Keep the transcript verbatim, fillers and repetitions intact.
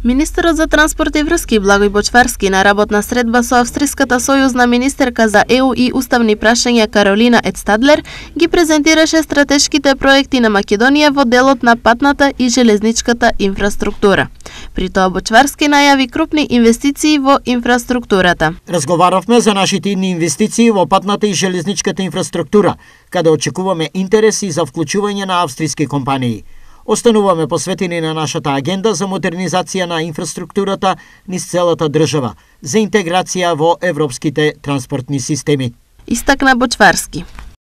Министерот за транспорт и врски Благој Бочварски на работна средба со австриската сојузна министерка за Е У и уставни прашања Каролина Едстадлер ги презентираше стратешките проекти на Македонија во делот на патната и железничката инфраструктура. При тоа Бочварски најави крупни инвестиции во инфраструктурата. Разговаравме за нашите идни инвестиции во патната и железничката инфраструктура, каде очекуваме интереси за вклучување на австриски компании. Остануваме посветени на нашата агенда за модернизација на инфраструктурата низ целата држава, за интеграција во европските транспортни системи. Истакна Бочварски.